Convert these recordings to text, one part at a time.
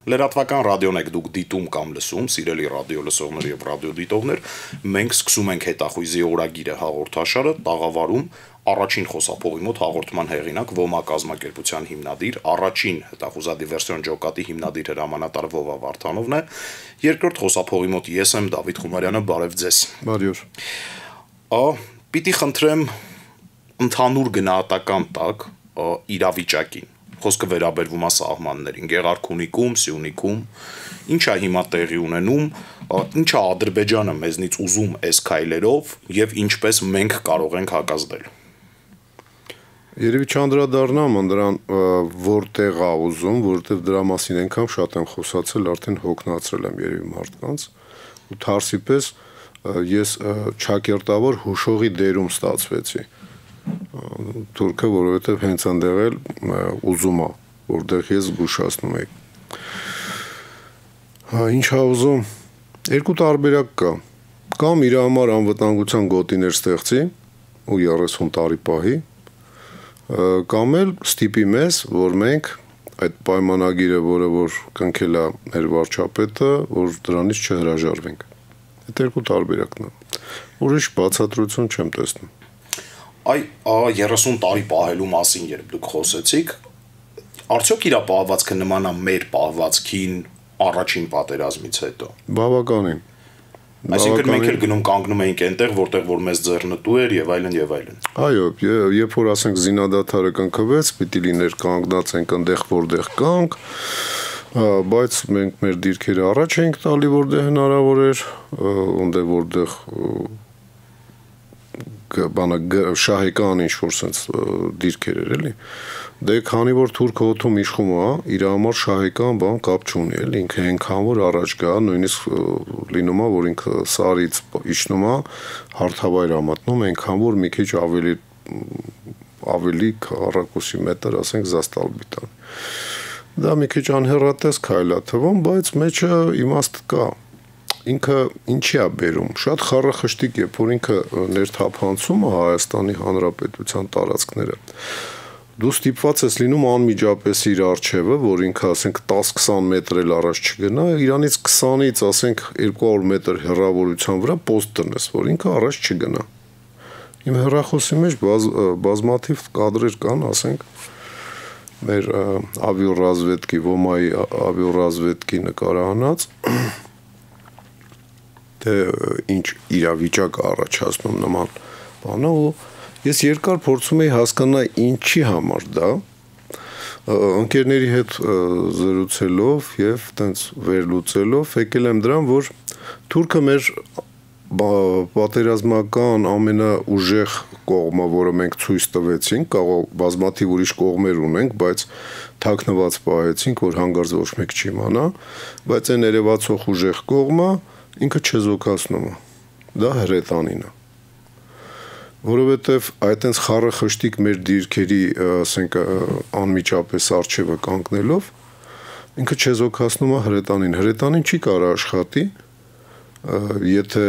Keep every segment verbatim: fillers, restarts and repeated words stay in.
Լրատվական ռադիոն եք դուք դիտում կամ լսում, սիրելի ռադիո լսողներ եւ ռադիոդիտողներ, մենք սկսում ենք հետախույզի օրագիրը հաղորդաշարը, տաղավարում առաջին խոսափողի մոտ հաղորդման հեղինակ ՈՄԱ կազմակերպության հիմնադիր, առաջին հետախուզադիվերսիոն ջոկատի հիմնադիր հրամանատար Վովա Վարդանովն է, երկրորդ խոսափողի մոտ ես եմ Դավիթ Խումարյանը, բարև ձեզ։ Բարև։ Ա պիտի խնդրեմ ընդհանուր գնահատական տակ իրավիճակին։ Խոսքը վերաբերվում է սահմաններին, Գեղարքունիքում, Սյունիքում, ինչ է հիմա տեղի ունենում, ինչ է Ադրբեջանը մեզնից ուզում այս քայլերով եւ ինչպես մենք կարող ենք հակազդել։ Երևի չանդրադառնամ դրան որտեղ է ուզում, որտեղ դրա մասին այնքան շատ եմ խոսացել, արդեն հոգնածրել եմ երևի մարդկանց, ու թարսի պես ես ճակերտավոր հուշողի դերում ստացվեցի։ Թուրքը, որովհետև հենց այնտեղ էլ ուզում է, որտեղ ես զգուշացնում եի։ Ինչ է ուզում, երկու տարբերակ կա, կամ իր համար անվտանգության գոտիներ ստեղծի ու երեսուն տարի պահի, կամ էլ ստիպի մեզ, որ մենք այդ պայմանագիրը, որը որ կնքել է մեր վարչապետը, որ դրանից չհրաժարվենք։ Այդ երկու տարբերակն է։ Ուրիշ բացատրություն չեմ տեսնում։ Այ երեսուն տարի պահելու մասին երբ դուք խոսեցիք, արդյոք իր պահվածքը նման է մեր պահվածքին առաջին պատերազմից հետո։ Բավականին։ Այսինքն մենք էլ գնում կանգնում էինք այնտեղ, որտեղ որ մեզ ձեռնտու էր եւ այլն եւ այլն։ Այո, երբ որ ասենք զինադադարը կնքվեց, պիտի լիներ կանգնած ենք այնտեղ, որտեղ կանք, բայց մենք մեր դիրքերը առաջ էինք տալի, որտեղ հնարավոր էր, այնտեղ որտեղ բանը շահեկան ինչ-որ սենց դիրքեր էր էլի, դե քանի որ թուրքը օդում իշխում է, իր համար շահեկան բան կապ չունի էլի, ինքը այնքան որ առաջ գա, նույնիսկ լինում է, որ ինքը սարից իջնում է, հարթավայր է մտնում, այնքան որ մի քիչ ավելի ավելի քառակուսի մետր, ասենք զաստալբիտան։ Դա մի քիչ անհեռատես քայլ է թվում, բայց մեջը իմաստ կա։ Ինքը ինչի է բերում, շատ խառախշտիկ է, որ ինքը ներթափանցում է Հայաստանի Հանրապետության տարածքները։ Դու ստիպված ես լինում անմիջապես իր առջևը, որ ինքը ասենք տասը-քսան մետր էլ առաջ չգնա, իրանից քսանից ասենք երկու հարյուր մետր հեռավորության վրա պոստ տնես, որ ինքը առաջ չգնա։ Իմ հեռախոսի մեջ բազ, բազմաթիվ կադրեր կան, ասենք մեր ավիոռազվեդկի, ՈՄԱ-ի ավիոռազվեդկի նկարահանած ինչ իրավիճակ առաջացնում նման բանը ու ես երկար փորձում էի հասկանալ ինչի համար դա ընկերների հետ զրուցելով եւ տենց վերլուծելով եկել եմ դրան որ թուրքը մեր պատերազմական ամենաուժեղ կողմը որը մենք ցույց տվեցինք կարող բազմաթիվ ուրիշ կողմեր ունենք բայց թաքնված պահեցինք որ հանգարց ոչ մեկ չիմանա բայց այն երևացող ուժեղ կողմը ինքը չեզոքացնում է, դա հրետանին է, որովհետև այդենց խառախշտիկ մեր դիրքերի, ասենք, անմիջապես առջևը կանգնելով, ինքը չեզոքացնում է հրետանին, հրետանին չի կարող աշխատի, եթե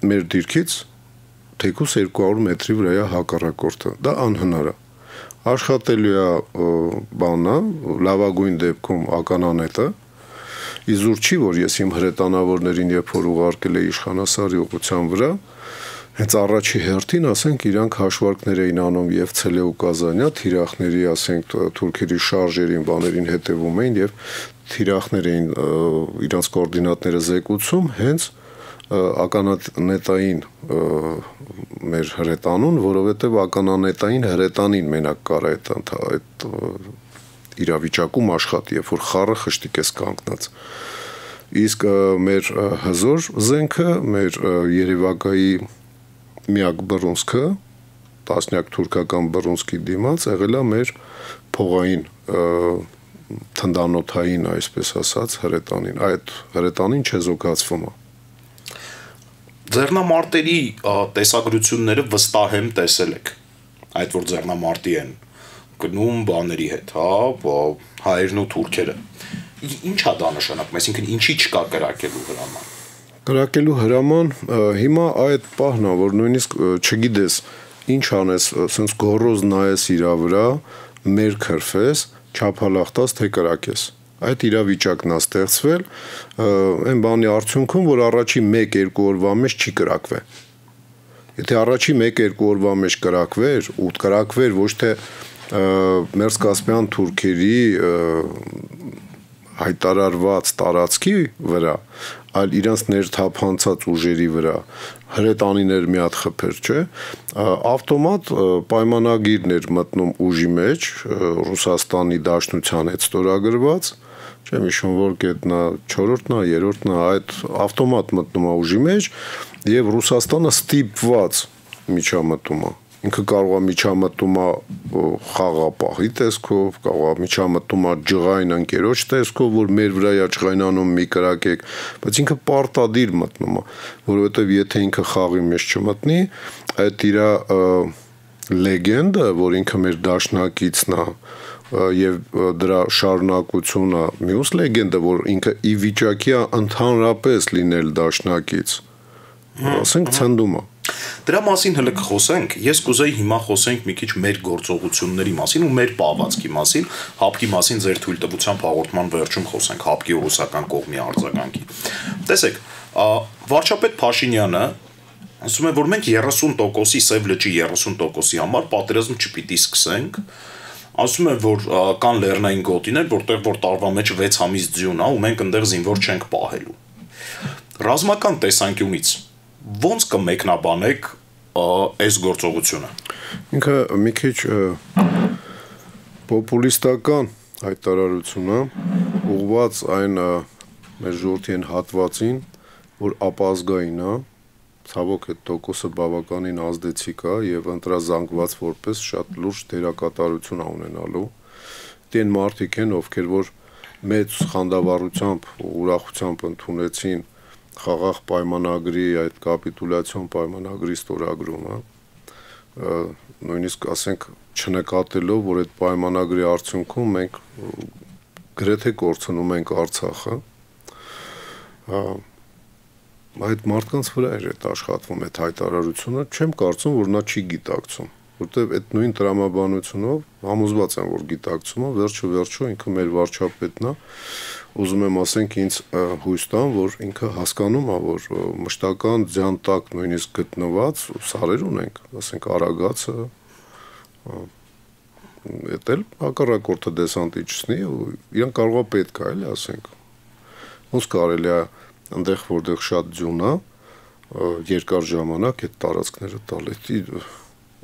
մեր դիրքից թեկուս երկու հարյուր մետրի վրա է հակառակորդը, դա անհնար է, աշխատելու է բանը, լավագույն դեպքում ականանետը, Իզուր չի, որ ես իմ հրետանավորներին երբ որ ուղարկել էի իշխանասարի ուղղության վրա, հենց առաջի հերթին, ասենք, իրանք հաշվարկներ էին անում եւ Ցելեու Կազանյա, թիրախների, ասենք, թուրքերի շարժերին, բաներին հետևում էին եւ թիրախներ էին իրանց կոորդինատները զեկուցում հենց ականանետային մեր հրետանուն, որովհետեւ ականանետային հրետանին մենակ կար այդ այդ իրավիճակում աշխատի, երբ որ խառը խշտիկ ես կանգնած։ Իսկ մեր հզոր զենքը, մեր Երևակայի միակ բռունցքը, տասնյակ թուրքական բռունցքի դիմաց եղել է մեր փողային թնդանոթային, այսպես ասած, հրետանին։ Այդ հրետանին չեզոքացվում է։ Ձեռնամարտերի տեսագրությունները վստահ եմ տեսել եք, այդ որ ձեռնամարտի են գնում բաների հետ, հա, հայերն ու թուրքերը։ Ինչ է դա նշանակում, այսինքն ինչի չկա կրակելու հրաման։ Կրակելու հրաման հիմա այդ պահն է, որ նույնիսկ չգիտես ինչ անես, ասենց գոռոզ նայես իրա վրա, մեր քրֆես, չափալախտած թե կրակես։ այդ իրավիճակն է ստեղծվել այն բանի արդյունքում, որ առաջի մեկ-երկու օրվա մեջ չի կրակվել։ Եթե առաջի մեկ-երկու օրվա մեջ կրակվեր, ու կրակվեր ոչ թե Մերձկասպյան թուրքերի հայտարարված տարածքի վրա, այլ իրանց ներթափանցած ուժերի վրա, հրետանիներ մի հատ խփեր, չէ, ավտոմատ պայմանագիրն էր մտնում ուժի մեջ, Ռուսաստանի Դաշնության հետ ստորագրված, չեմ հիշում որ կետնա չորրորդն է, երրորդն է, այդ ավտոմատ մտնում է ուժի մեջ եւ Ռուսաստանը ստիպված միջամտում է։ Ինքը կարող է միջամտում է խաղապահի տեսքով, կարող է միջամտում է ջղային ընկերոջ տեսքով, որ մեր վրա է ջղայնանում մի կրակեք, բայց ինքը պարտադիր մտնում է, որովհետեւ եթե ինքը խաղի մեջ չմտնի, այդ իր լեգենդը, որ ինքը մեր դաշնակիցն է, եւ դրա շարունակությունը, մյուս լեգենդը, որ ինքը ի վիճակի է ընդհանրապես լինել դաշնակից, ասենք ցնդում է։ Դրա մասին հələ կխոսենք, ես կուզեի հիմա խոսենք մի քիչ մեր գործողությունների մասին ու մեր պահվածքի մասին, հապկի մասին ձեր թույլտվությամբ հաղորդման վերջում խոսենք, հապկի ու ռուսական կողմի արձագանքի։ Տեսեք, վարչապետ Փաշինյանը ասում է, որ մենք երեսուն տոկոսի Սև լճի երեսուն տոկոսի համար պատերազմ չպիտի սկսենք, ասում է, որ կան լեռնային գոտիներ, որտեղ որ տարվա մեջ վեց ամիս ձյուն է ու մենք այնտեղ զինվոր չենք պահելու։ Ռազմական տեսանկյունից ոնց կմեկնաբանեք այս գործողությունը։ Ինքը մի քիչ պոպուլիստական հայտարարություն է, ուղղված այն մեր ժողովրդի հատվածին, որ ապազգային է, ցավոք այդ տոկոսը բավականին ազդեցիկ է եւ ընտրազանգված որպես շատ լուրջ դերակատարություն է ունենալու։ Դեն մարդիկ են, ովքեր որ մեծ խանդավառությամբ ու ուրախությամբ ընդունեցին խաղաղ պայմանագրի այդ կապիտուլյացիոն պայմանագրի ստորագրումը, նույնիսկ ասենք չնկատելով, որ այդ պայմանագրի արդյունքում մենք գրեթե կորցնում ենք Արցախը, այդ մարդկանց վրա էր այդ աշխատվում այդ հայտարարությունը, չեմ կարծում, որ նա չի գիտակցում, որտեղ այդ նույն տրամաբանությունով համոզված եմ, որ գիտակցում է, վերջը վերջո ինքը մեր վարչապետն է, ուզում եմ ասենք ինձ հույս տան, որ ինքը հասկանում է, որ մշտական ձյան տակ նույնիսկ գտնված սարեր ունենք, ասենք Արագածը, դա էլ հակառակորդը դեսանտի չսնի ու իրան կարող է պետք է, էլի ասենք։ Ոնց կարելի է այնտեղ որտեղ շատ ձյուն է, երկար ժամանակ այդ տարածքները տալ, դա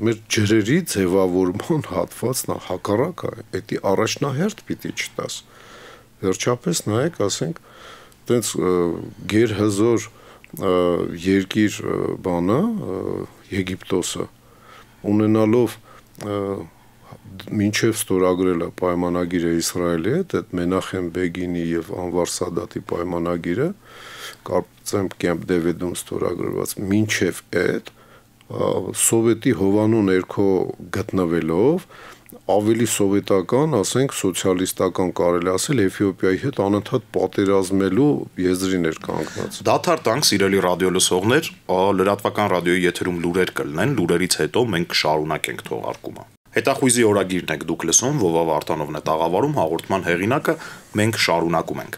մեր ջրերի ձևավորման հատվածն է, հակառակը, դա առաջնահերթ պիտի չտաս։ Վերջապես նայեք, ասենք, տենց գերհզոր երկիր բանը, Եգիպտոսը, ունենալով մինչև ստորագրելը պայմանագիրը Իսրայելի հետ, այդ Մենախեմ Բեգինի եւ Անվար Սադատի պայմանագիրը, կարծեմ Կեմփ Դեվիդում ստորագրված, մինչև այդ սովետի հովանու ներքո գտնվելով ավելի սովետական, ասենք սոցիալիստական կարելի ասել Էթիոպիայի հետ անընդհատ պատերազմելու եզրին էր կանգնած։ Դադար տանք, սիրելի ռադիոլսողներ, լրատվական ռադիոյի եթերում լուրեր կլինեն, լուրերից հետո մենք կշարունակենք թողարկումը։ Հետախույզի օրագիրն եք դուք լսում, Վովա Վարդանովն է տաղավարում, հաղորդման հեղինակը, մենք շարունակում ենք։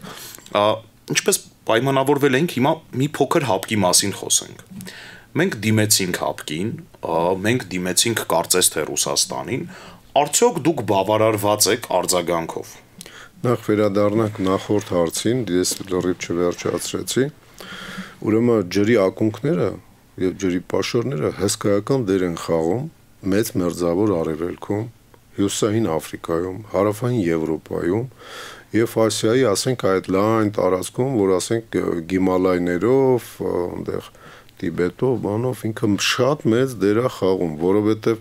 Ինչպես պայմանավորվել ենք, հիմա մի փոքր հապկի մասին խոսենք։ Մենք դիմեցինք հապկին, մենք դիմեցինք կարծես թե Ռուսաստանին, արդյոք դուք բավարարված եք արձագանքով։ Նախ վերադառնանք նախորդ հարցին, ես լրիվ չվերջացրեցի։ Ուրեմն ջրի ակունքները եւ ջրի պաշարները հսկայական դեր են խաղում մեծ մերձավոր արևելքում, հյուսիսային Աֆրիկայում, հարավային Եվրոպայում եւ Ասիայի, ասենք այդ լայն տարածքում, որ ասենք Գիմալայներով, այնտեղ Տիբետով, բանով ինքը շատ մեծ դեր է խաղում, որովհետեւ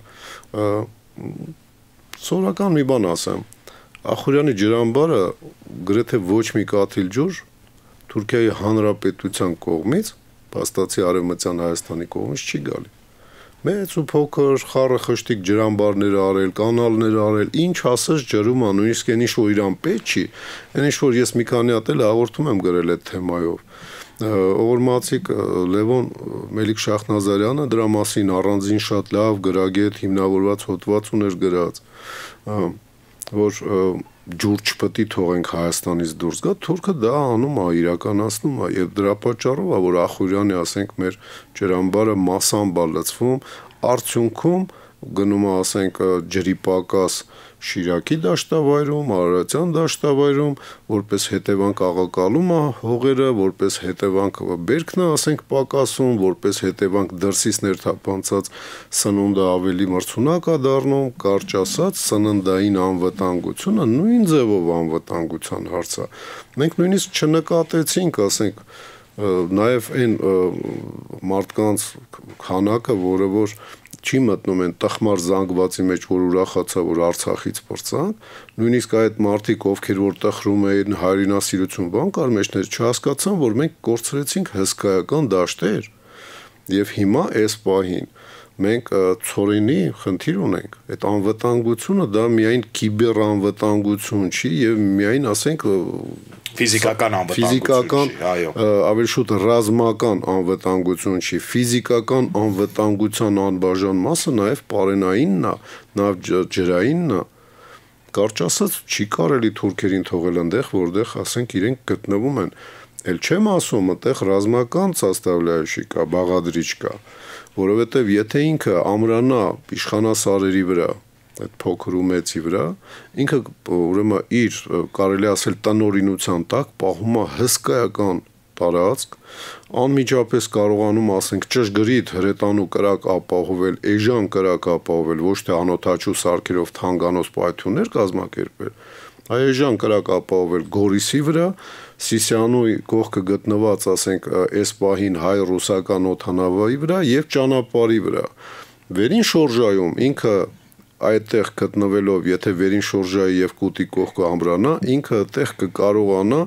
սովորական մի բան ասեմ, Ախուրյանի ջրամբարը գրեթե ոչ մի կաթիլ ջուր Թուրքիայի Հանրապետության կողմից, փաստացի Արևմտյան Հայաստանի կողմից չի գալի։ Մեծ ու փոքր խառը խշտիկ ջրամբարներ արել, կանալներ արել, ինչ ասես ջրում է, նույնիսկ այն ինչ որ իրան պետք չի, այն ինչ որ ես մի քանի հատ էլ հաղորդում եմ գրել այդ թեմայով։ Օղորմացիկ Լևոն Մելիք Շախնազարյանը դրա մասին առանձին շատ լավ գրագետ հիմնավորված հոդված ուներ գրած, որ ջուր չպետք է թողենք Հայաստանից դուրս գա, թուրքը դա անում է, իրականացնում է եւ դրա պատճառով է, որ Ախուրյանի, ասենք, մեր ջրամբարը մասամբ է լցվում, արդյունքում գնում է, ասենք, ջրի պակաս Շիրակի դաշտավայրում, Արարատյան դաշտավայրում, որպես հետևանք աղակալում է հողերը, որպես հետևանք բերքն է, ասենք, պակասում, որպես հետևանք դրսից ներթափանցած սնունդը ավելի մրցունակ է դառնում, կարճ ասած, սննդային անվտանգությունը նույն ձևով անվտանգության հարց է։ Մենք նույնիսկ չնկատեցինք, ասենք, նաև այն մարդկանց քանակը, որը որ չի մտնում են տխմար զանգվածի մեջ, որ ուրախացա, որ Արցախից պրծանք, նույնիսկ այդ մարդիկ, ովքեր որ տխրում էին հայրենասիրություն բան կար մեջներ, չհասկացան, որ մենք կորցրեցինք հսկայական դաշտեր եւ հիմա այս պահին մենք ծորենի խնդիր ունենք։ Այդ անվտանգությունը դա միայն կիբեր անվտանգություն չի եւ միայն, ասենք, ֆիզիկական անվտանգություն չի, այո, ավելի շուտ ռազմական անվտանգություն չի, ֆիզիկական անվտանգության անբաժան մասը նաեւ պարենայինն է, նաեւ ջրայինն է։ Կարճ ասած, չի կարելի թուրքերին թողել այնտեղ, որտեղ, ասենք, իրենք գտնվում են։ Էլ չեմ ասում, այդտեղ ռազմական սաստավլայաշի կա, բաղադրիչ կա, որովհետև եթե ինքը ամրանա իշխանասարերի վրա, այդ փոքր ու մեծի վրա, ինքը ուրեմն իր, կարելի ասել, տնօրինության տակ պահում է հսկայական տարածք, անմիջապես կարողանում, ասենք, ճշգրիտ հրետանու կրակ ապահովել, էժան կրակ ապահովել, ոչ թե անօթաչու սարքերով թանգանոց պայթյուններ կազմակերպել, այժան կրակ ապահովել Գորիսի վրա, Սիսիանուի կողքը գտնված, ասենք, այս պահին հայ-ռուսական օդանավայի վրա եւ ճանապարհի վրա։ Վերին շորժայում ինքը այդտեղ գտնվելով, եթե վերին շորժայի եւ կուտի կողքը ամրանա, ինքը այդտեղ կկարողանա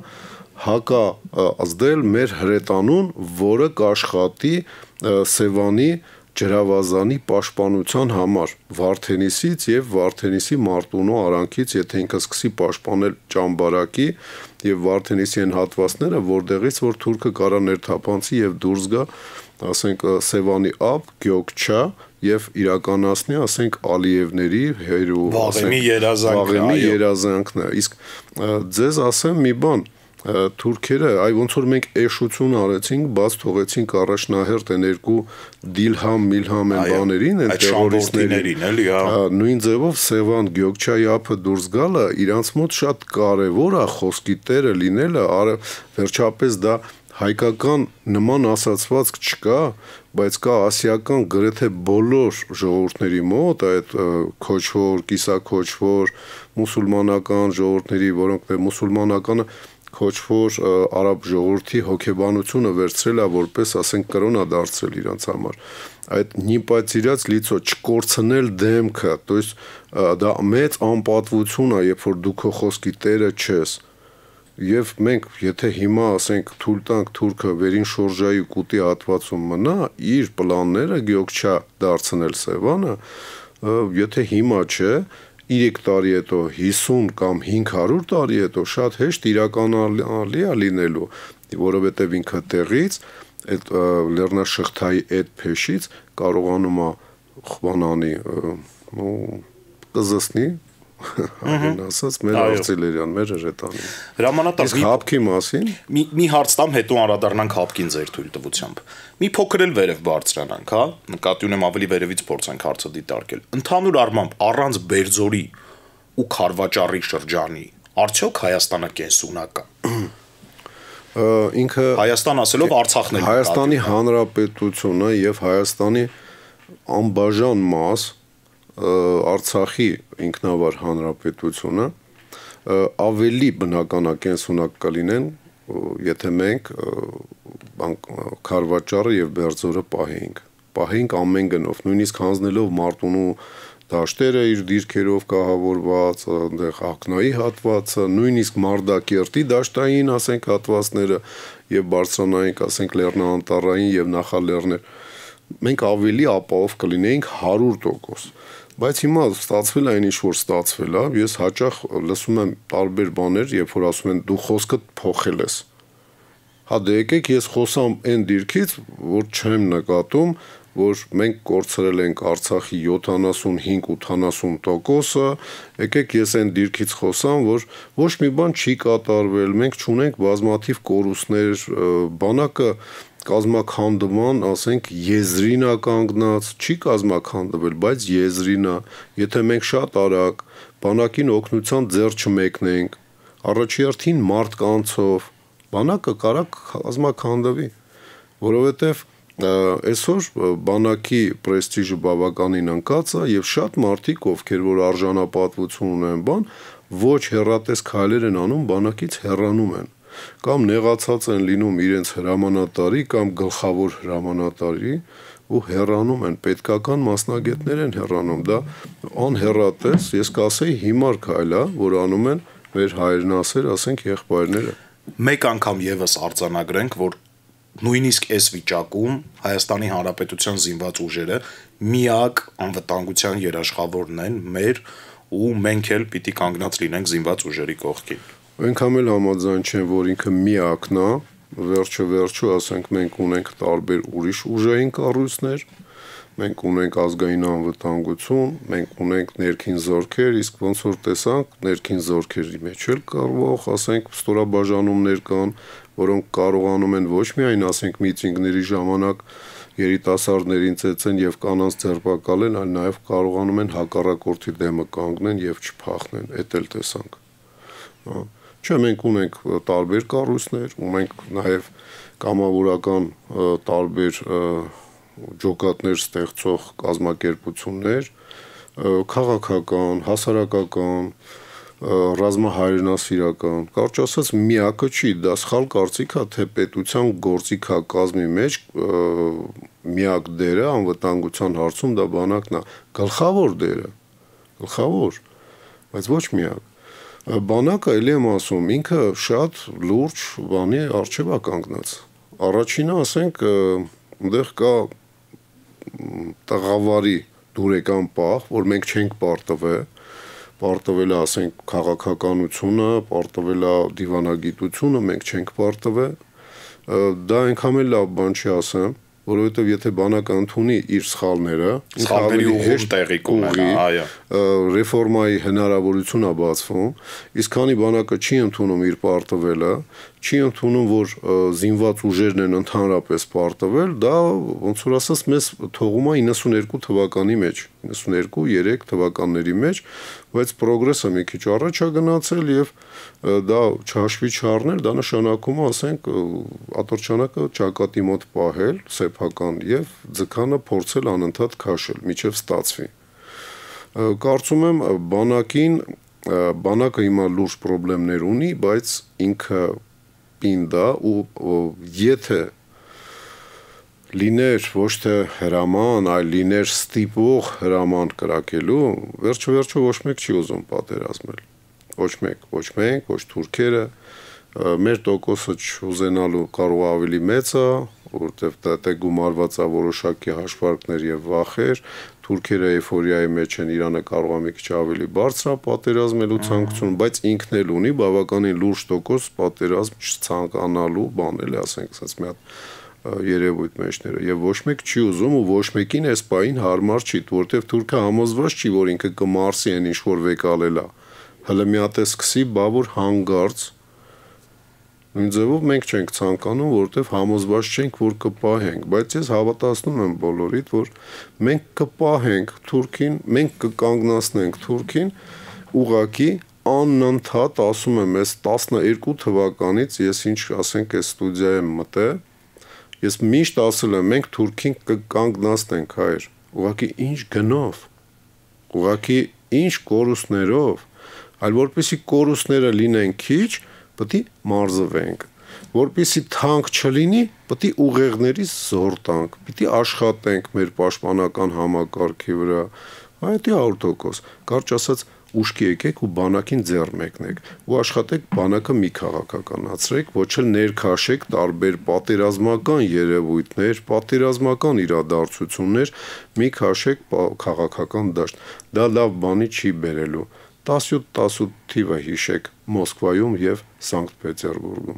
հակա ազդել մեր հրետանուն, որը կաշխատի Սևանի ջրավազանի պաշտպանության համար Վարդենիսից եւ Վարդենիսի Մարտունու արանքից, եթե ինքը սկսի պաշտպանել Ճամբարակի եւ Վարդենիսի այն հատվածները, որտեղից որ թուրքը կարա ներթափանցի եւ դուրս գա, ասենք, Սևանի ափ, Գյոքչա եւ իրականացնի, ասենք, Ալիևների հերու, Վաղեմի երազանքն, այո, երազանքն է։ Իսկ ձեզ ասեմ մի բան, թուրքերը, այ ոնց որ մենք էշություն արեցինք, բաց թողեցինք առաջնահերթ են երկու Դիլհամ, Միլհամ են բաներին, են տերորիստներին, էլի, հա։ Նույն ձևով Սևան Գյոքչայի ափը դուրս գալը իրանց մոտ շատ կարևոր է խոսքի տերը լինելը, վերջապես դա հայկական նման ասացվածք չկա, բայց կա ասիական գրեթե բոլոր ժողովուրդների մոտ, այդ քոչվոր, կիսաքոչվոր, մուսուլմանական ժողովուրդների, որոնք մուսուլմանականը քոչվոր արաբ ժողովրդի հոգեբանությունը վերցրել է որպես, ասենք, կրոնա դարձրել իրանց համար։ Այդ նիպացիրած լիցո չկորցնել դեմքը, то есть դա մեծ անպատվություն է, երբ որ դու քո խոսքի տերը չես։ Եվ մենք, եթե հիմա, ասենք, թույլ տանք թուրքը վերին շորժայի կուտի հատվածում մնա, իր պլանները Գյոքչա դարձնել Սևանը, եթե հիմա չէ, երեք տարի հետո, հիսուն կամ հինգ հարյուր տարի հետո շատ հեշտ իրականալի է լինելու, որովհետև ինքը տեղից, այդ լեռնաշղթայի այդ փեշից կարողանում է խվանանի, կզսնի, Այն ասած մեր արծիլերյան, մեր հրետանին։ Հրամանատար, իսկ հապկի մասին մի մի հարց տամ, հետո անդրադառնանք հապկին ձեր թույլ տվությամբ։ Մի փոքր էլ վերև բարձրանանք, հա, նկատի ունեմ ավելի վերևից փորձենք հարցը դիտարկել։ Ընդհանուր առմամբ առանց Բերձորի ու Խարվաճառի շրջանի արդյոք Հայաստանը կենսունակ է։ Ինքը Հայաստան ասելով Արցախն էլ Հայաստանի Հանրապետությունը եւ Հայաստանի անբաժան մաս Արցախի ինքնավար հանրապետությունը ավելի բնականակենսունակ կլինեն, եթե մենք Խարվաճառը եւ Բերձորը պահենք, պահենք ամեն գնով, նույնիսկ հանձնելով Մարտունու դաշտերը իր դիրքերով կահավորված, այնտեղ ակնայի հատվածը, նույնիսկ Մարտակերտի դաշտային, ասենք, հատվածները եւ բարձրանային, ասենք, լեռնաանտառային եւ նախալեռներ, մենք ավելի ապահով կլինեինք հարյուր տոկոս։ Բայց հիմա ստացվել է այն ինչ որ ստացվել է, ես հաճախ լսում եմ տարբեր բաներ, երբ որ ասում են դու խոսքդ փոխել ես։ Հա դե եկեք ես խոսամ այն դիրքից, որ չեմ նկատում, որ մենք կորցրել ենք Արցախի յոթանասունհինգ ութանասուն տոկոսը, եկեք ես այն դիրքից խոսամ, որ ոչ մի բան չի կատարվել, մենք չունենք բազմաթիվ կորուստներ, բանակը կազմաքանդման, ասենք, եզրին է կանգնած, չի կազմաքանդվել, բայց եզրին է, եթե մենք շատ արագ բանակին օգնության ձեռ չմեկնենք, առաջերտին մարդկանցով, բանակը կարա կազմաքանդվի, որովհետև այսօր բանակի պրեստիժը բավականին ընկած է եւ շատ մարդիկ, ովքեր որ արժանապատվություն ունեն, բան, ոչ հեռատես քայլեր են անում, բանակից հեռանում են, կամ նեղացած են լինում իրենց հրամանատարի կամ գլխավոր հրամանատարի ու հեռանում են, պետքական մասնագետներ են հեռանում, դա անհեռատես, ես կասեի հիմար քայլ է, որ անում են մեր հայրենասեր, ասենք, եղբայրները։ Մեկ անգամ եւս արձանագրենք, որ նույնիսկ այս վիճակում Հայաստանի Հանրապետության զինված ուժերը միակ անվտանգության երաշխավորն են մեր ու մենք էլ պիտի կանգնած լինենք զինված ուժերի կողքին։ Այնքան էլ համաձայն չեմ, որ ինքը միակն է, վերջը վերջը, ասենք, մենք ունենք տարբեր ուրիշ ուժային կառույցներ, մենք ունենք ազգային անվտանգություն, մենք ունենք ներքին զորքեր, իսկ ոնց որ տեսանք, ներքին զորքերի մեջ էլ կարող, ասենք, ստորաբաժանումներ կան, որոնք կարողանում են ոչ միայն, ասենք, միտինգների ժամանակ երիտասարդներին ծեծեն եւ կանանց ձերբակալեն, այլ նաեւ կարողանում են հակառակորդի դեմը կանգնեն եւ չփախնեն, էդ էլ տեսանք։ Չէ, մենք ունենք տարբեր կառույցներ, ու մենք նաեւ կամավորական տարբեր ջոկատներ ստեղծող կազմակերպություններ, քաղաքական, հասարակական, ռազմահայրենասիրական, կարճ ասած միակը չի, դա սխալ կարծիք է, թե պետության գործիքակազմի մեջ միակ դերը անվտանգության հարցում դա բանակն է, գլխավոր դերը, գլխավոր, բայց ոչ միակ։ Բանակը, ելի եմ ասում, ինքը շատ լուրջ բանի առջև է կանգնած։ Առաջինը, ասենք, այնտեղ կա տղավարի դուրեկան պահ, որ մենք չենք պարտվել, պարտվել է, ասենք, քաղաքականությունը, պարտվել է դիվանագիտությունը, մենք չենք պարտվել, դա այնքան էլ լավ բան չի ասեմ, որովհետև եթե բանակը ընդունի իր սխալները, սխալների ուղղում տեղի կունենա, այո, ռեֆորմայի հնարավորություն է բացվում, իսկ քանի բանակը չի ընդունում իր պարտվելը, չի ընդունում, որ զինված ուժերն են ընդհանրապես պարտվել, դա ոնց որ ասած մեզ թողում է իննսուներկու թվականի մեջ, իննսուներկու երեք թվականների մեջ, բայց պրոգրեսը մի քիչ առաջ է գնացել եւ դա չհաշվի չառնել, դա նշանակում է, ասենք, ատրճանակը ճակատի մոտ պահել, սեփական եւ ձգանը փորձել անընդհատ քաշել, միջև ստացվի։ Կարծում եմ բանակին բանակը հիմա լուրջ խնդիրներ ունի, բայց ինքը պինդ է ու եթե լիներ ոչ թե հրաման, այլ լիներ ստիպող հրաման կրակելու, վերջը վերջը ոչ մեկ չի ուզում պատերազմել։ Ոչ մեկ, ոչ մենք, ոչ թուրքերը, մեր տոկոսը չուզենալու կարող ավելի մեծ է, որովհետև դա գումարված է որոշակի հաշվարկներ եւ վախեր, թուրքերը էйֆորիայի մեջ են, Իրանը կարող է մի քիչ ավելի բարձր է պատերազմելու ցանկություն, բայց ինքն էլ ունի բավականին լուրջ տոկոս պատերազմ չցանկանալու բան էլ, ասենք, ասած մի հատ երևույթ մեջները եւ ոչ մեկ չի ուզում ու ոչ մեկին այս պահին հարմար չի, որովհետեւ թուրքը համոզված չի, որ ինքը կմարսի այն ինչ որ վեկալել է, հələ մի հատ է սկսի, բա որ հանգարց նույն ձևով մենք չենք ցանկանում, որովհետև համոզված չենք, որ կպահենք, բայց ես հավատացնում եմ բոլորիդ, որ մենք կպահենք Թուրքին, մենք կկանգնացնենք Թուրքին, ուղղակի անընդհատ ասում եմ, այս տասնըերկու թվականից ես ինչ ասենք այս ստուդիա եմ մտել, ես միշտ ասել եմ, մենք Թուրքին կկանգնացնենք, հայր, ուղղակի ինչ գնով, ուղղակի ինչ կորուստներով, այլ որպեսզի կորուստները լինեն քիչ, պետք է մարզվենք, որպեսզի թանկ չլինի, պետք է ուղեղներից զոր տանք, պետք է աշխատենք մեր պաշտպանական համակարգի վրա, այդ է հարյուր տոկոս, կարճ ասած ուշքի եկեք ու բանակին ձեռ մեկնեք, ու աշխատեք բանակը մի քաղաքականացրեք, ոչ էլ ներքաշեք տարբեր պատերազմական երևույթներ, պատերազմական իրադարձություններ, մի քաշեք քաղաքական դաշտ, դա լավ բանի չի բերելու, տասնյոթ տասնութ թիվը հիշեք Մոսկվայում եւ Սանկտ Պետերբուրգում։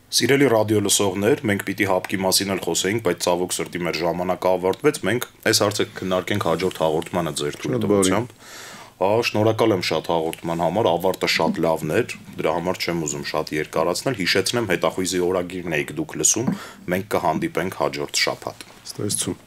Սիրելի ռադիոլսողներ, մենք պիտի հապկի մասին էլ խոսեինք, բայց ցավոք սրտի մեր ժամանակը ավարտվեց։ Մենք այս հարցը քննարկենք հաջորդ հաղորդմանը ձեր թույլտվությամբ։ Հա, շնորհակալ եմ շատ հաղորդման համար, ավարտը շատ լավն էր, դրա համար չեմ ուզում շատ երկարացնել, հիշեցնեմ հետախույզի օրագիրն եք դուք լսում, մենք կհանդիպենք հաջորդ շաբաթ։ Ստացվում։